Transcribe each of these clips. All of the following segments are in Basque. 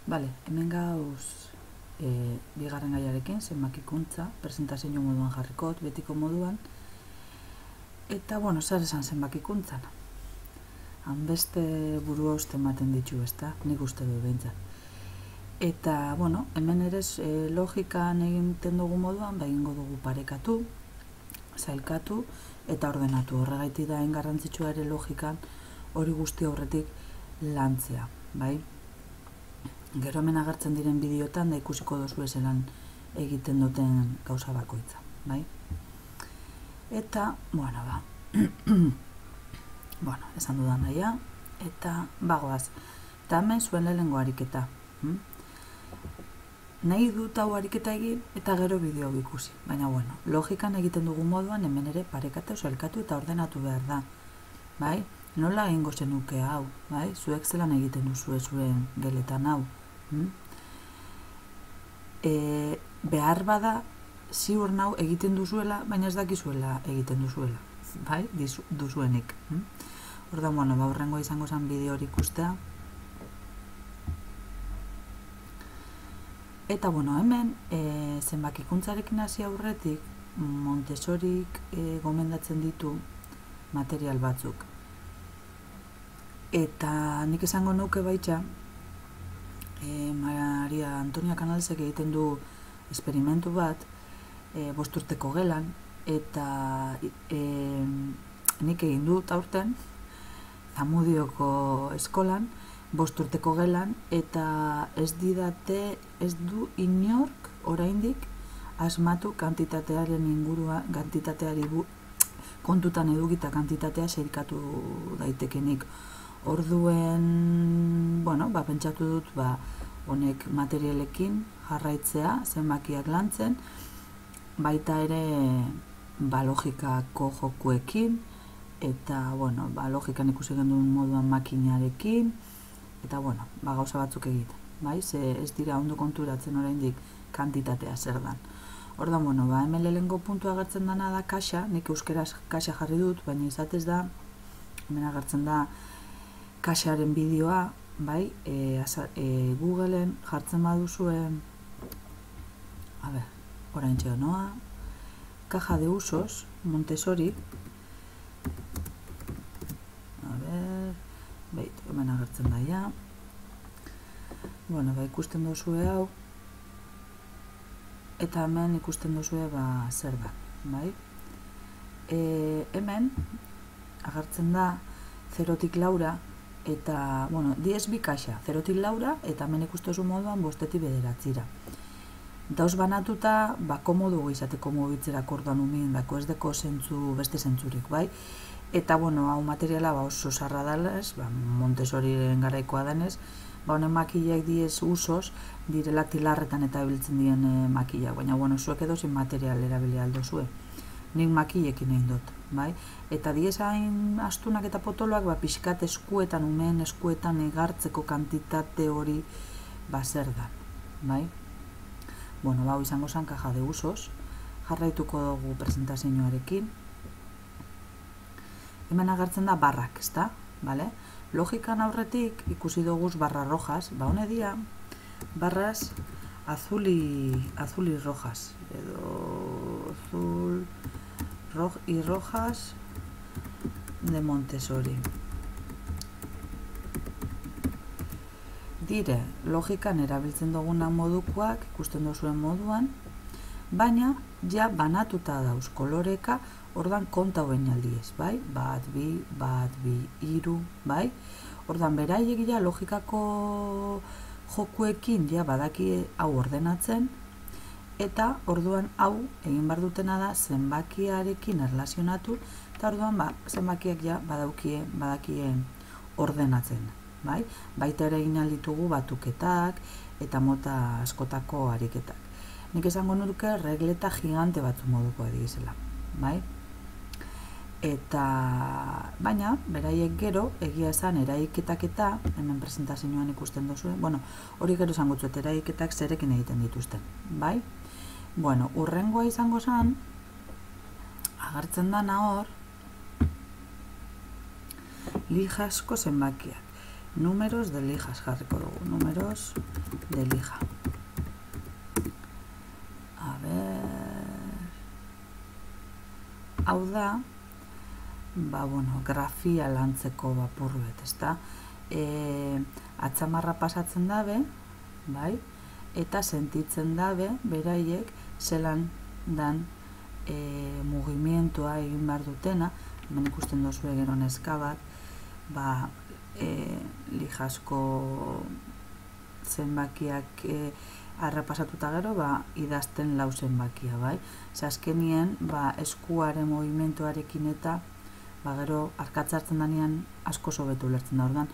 Bale, hemen gauz bigarren gaiarekin, zenbakikuntza, presentazio moduan jarrikot, betiko moduan. Eta, bueno, zer esan zenbakikuntzan. Hanbeste buru hauste ematen ditu, ezta? Nik uste du behintzat. Eta, bueno, hemen ere logikan egiten dugu moduan, egingo dugu parekatu, zailkatu eta ordenatu. Horregaiti da garrantzitsua ere logikan hori guzti aurretik lantzea, bai? Gero hemen agertzen diren bideotan da ikusiko dozu ezelan egiten duten gauza bakoitza, bai? Eta, bueno, bueno, esan dudan naia, eta bagoaz. Eta hemen zuen lehenengo ariketa. Nahi dut hau ariketa egin eta gero bideo ikusi. Baina, bueno, logikan egiten dugu moduan hemen ere parekatu, zailkatu eta ordenatu behar da. Bai? Nola egingo zenuke hau, bai? Zuek zelan egiten duzu zuen geletan hau. Behar bada ziur nau egiten duzuela, baina ez dakizuela egiten duzuela. Bai? Duzuenik. Ordan, bueno, horrengo izango zen bideo hori ikustea. Eta, bueno, hemen zenbakikuntzarekin hasi aurretik Montessorik gomendatzen ditu material batzuk. Eta nik esango nuke baita, Maria Antonia Canalsek egiten du esperimentu bat 5 urteko gelan, eta nik egin dut aurten Zamudioko eskolan 5 urteko gelan, eta ez du inork oraindik asmatu kantitatearen ingurua, kantitateari kontutan edukita kantitatea sailkatu daitekenik. Orduen, bueno, pentsatu dut, honek materialekin jarraitzea, zenbakiak lantzen, baita ere logikako jokuekin, eta, bueno, logikan ikusi genduen moduan makinarekin, eta, bueno, gauza batzuk egiten, bai? Ze ez dira ondo konturatzen oraindik kantitatea zer dan. Ordan, bueno, hemen lehenengo puntua agertzen dana da kaxa, nik euskeraz kaxa jarri dut, baina izatez da, hemen agertzen da kaxaren bideoa, bai? Googleen jartzen baduzue, orain txegonoa, caja de usos, Montessori, hemen agertzen daia. Bueno, ikusten duzue hau, eta hemen ikusten duzue zer da, bai? Hemen agertzen da 0-tik 4, eta, bueno, 10 bi kaxa, 0-tik 4, eta hemen ikusten duzu moduan 5-tik 9. Dauz banatuta, komodu izateko mugitzerako orduan umiendako, ez deko beste zentzurik, bai? Eta, bueno, hau materiala oso zarra dalez, Montessoriren garaikoa denez, honen makileak diez usos, direla tilarretan eta ebiltzen dien makilak, baina, bueno, zuek edozin material erabili aldo zue. Nik makilekin egin dut, bai? Eta diez hain astunak eta potoloak, pixkat eskuetan, umeen eskuetan egartzeko kantitate hori zer da, bai? Bueno, hau izango zen caja de usos, jarraituko dugu presentazioarekin. Hemen agertzen da barrak, ezta? Logikan aurretik ikusi duguz barra rojas, hone dia, barras azul y rojas, edo azul y rojas de Montessori. Dire, logikan erabiltzen duguna modukoak, ikusten duzuen moduan, baina ja banatuta dauz koloreka, ordan konta hoen aldiez, bai? 1, 2, 3, bai? Ordan beraiek ja logikako jokuekin ja badaki hau ordenatzen, eta orduan hau egin behar dutena da zenbakiarekin erlazionatu, eta orduan zenbakiak ja badakien ordenatzen, bai? Baita ere egin alditugu batuketak eta mota askotako ariketak. Nik esango nuke regleta gigante batzu moduko edizela, bai? Eta, baina, beraiek gero, egia esan, eraiketak eta, hemen presentazioan ikusten duzuen, bueno, hori gero esango zuet, eraiketak zerekin egiten dituzten, bai? Bueno, urrengoa izango zen, agertzen dana hor, lijasko zenbakiak. Números de lijas jarriko dugu, números de lija. A ver... Hau da, grafia lantzeko bapurbet, ezta? Atzamarra pasatzen dabe, bai? Eta sentitzen dabe, beraiek, zelan dan mugimentua egin behar dutena, hemen ikusten dozu gero neska bat, lijasko zenbakiak arrapasatuta gero, idazten lau zenbakia, bai? Azkenien, eskuaren mugimentuarekin eta gero arkatzartzen danean asko sobetu ulertzen da, orduan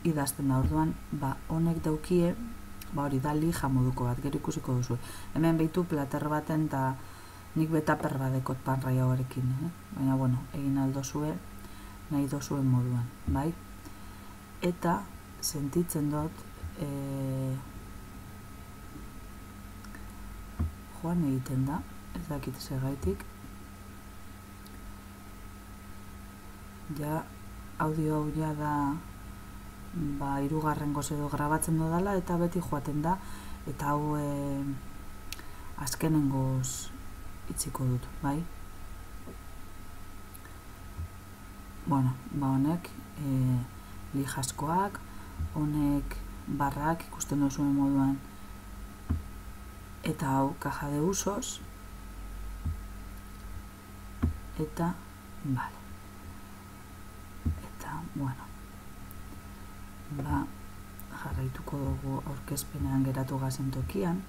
idazten da, orduan honek daukie, hori da lija moduko bat, gero ikusiko duzu. Hemen behitu plater baten eta nik betaper badekot panraia horrekin, baina, egin aldozue, nahi dozuen moduan, bai? Eta sentitzen dut, joan egiten da, ez dakit segaitik, ja, audio hau ja da, hirugarrengoz edo grabatzen dudala, eta beti joaten da, eta hau azkenengoz itziko dut, bai? Honek lijaskoak, honek barrak ikusten duzuen moduan, eta hau caja de usos, eta, bale. Eta, jarraituko dugu aurkezpenean geratu gazen tokian.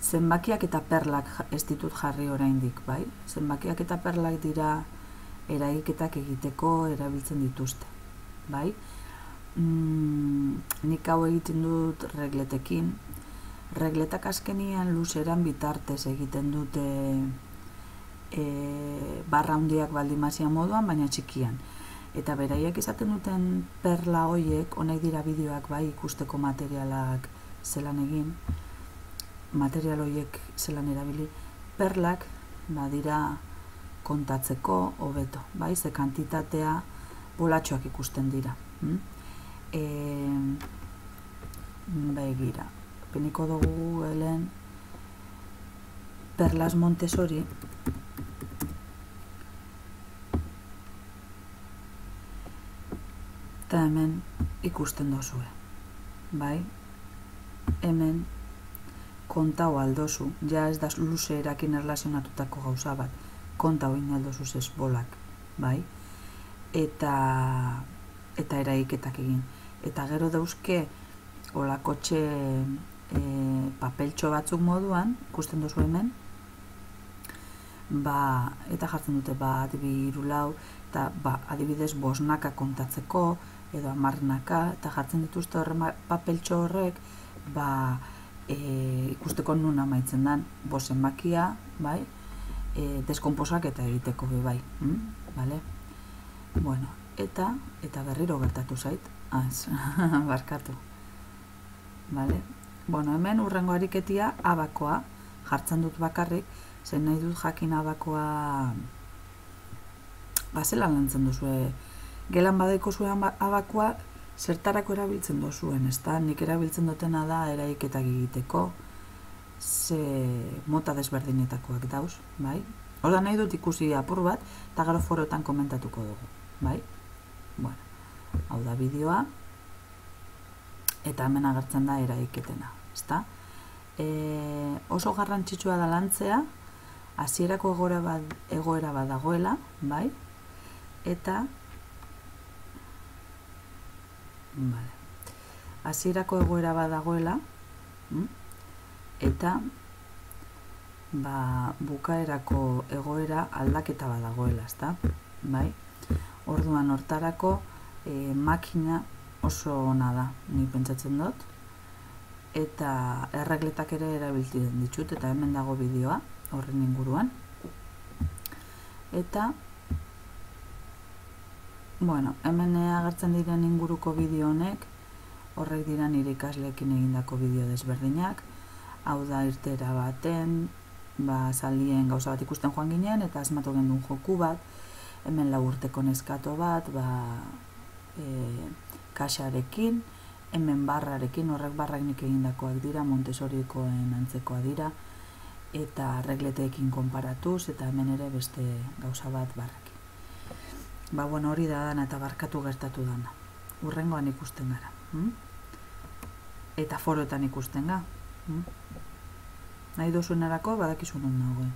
Zenbakiak eta perlak ez ditut jarri oraindik, bai? Zenbakiak eta perlak dira eragiketak egiteko erabiltzen dituzte, bai? Nik hau egiten dut regletekin. Regletak azkenian luzeran bitartez egiten dute barra handiak baldimazia moduan, baina txikian. Eta beraiek izaten duten perla hoiek, honek dira bideoak bai ikusteko materialak zelan egin, material hoiek zelan erabili, perlak dira kontatzeko hobeto, bai, ze kantitatea bolatxoak ikusten dira. Begira, peniko dugu helen Perlas Montessori, eta hemen ikusten dozue, bai? Hemen kontau aldozu, ja ez da luze erakin erlazionatutako gauza bat, kontau inaldozuz ez bolak, bai? Eta eraiketak egin. Eta gero dauzke olakotxe papeltxo batzuk moduan, ikusten dozu hemen, eta jartzen dute adibi irulau, eta adibidez bosnaka kontatzeko, edo amarnaka, eta jartzen dituzte papeltxo horrek, ikusteko nun amaitzen den, zenbakia, bai, deskomposak eta egiteko bai, bale? Bueno, eta berriro gertatu zait, barkatu, bale? Bueno, hemen urrengo ariketia abakoa, jartzen dut bakarrik, zen nahi dut jakin abakoa, zelan lantzen duzue, gelan badaiko zuen abakoa, zertarako erabiltzen duzuen, ezta? Nik erabiltzen dutena da eraiketak egiteko, ze mota desberdinetakoak dauz, bai? Horda nahi dut ikusi apur bat, eta gero foroetan komentatuko dugu, bai? Bueno, hau da bideoa, eta hemen agertzen da eraiketena, ezta? Oso garrantzitsua da lantzea, hasierako egoera bat dagoela, bai? Eta hasierako egoera bat dagoela, eta bukaerako egoera aldaketa bat dagoela, ezta? Bai? Orduan hortarako makina oso ona da, nik pentsatzen dut, eta erregletak ere erabiltzen ditut, eta hemen dago bideoa horren inguruan. Eta hemen agertzen diren inguruko bideo honek, horrek dira nire ikasleekin egindako bideo desberdinak, hau da irtera baten, zaldien gauza bat ikusten joan ginen, eta asmatu gendun joku bat, hemen 4 urteko neskato bat, kaxarekin, hemen barrarekin, horrek barrak egindakoak dira, Montessorikoen antzekoa dira, eta regleteekin konparatuz, eta hemen ere beste gauza bat barrekin. Bueno, hori da dana eta barkatu gertatu dana. Urrengoan ikusten gara. Eta foroetan ikusten ga. Nahi dozuenarako badakizu non nagoen.